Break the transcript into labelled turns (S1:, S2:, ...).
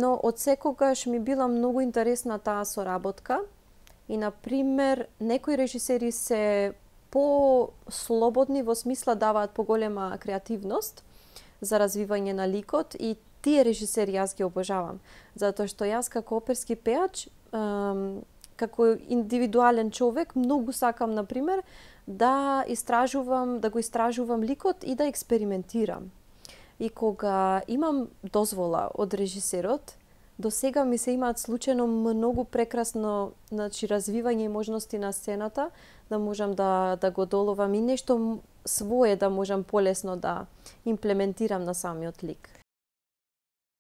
S1: Но од секогаш ми била многу интересна таа соработка и, например, некои режисери се по-слободни во смисла даваат поголема креативност за развивање на ликот и тие режисери јас ги обожавам. Затоа што јас како оперски пеач, како индивидуален човек, многу сакам, например, да го истражувам ликот и да експериментирам. И кога имам дозвола од режисерот, до сега ми се имаат случајно многу прекрасно, развивање и можности на сцената, да можам да го доловам и нешто свое да можам полесно да имплементирам на самиот лик.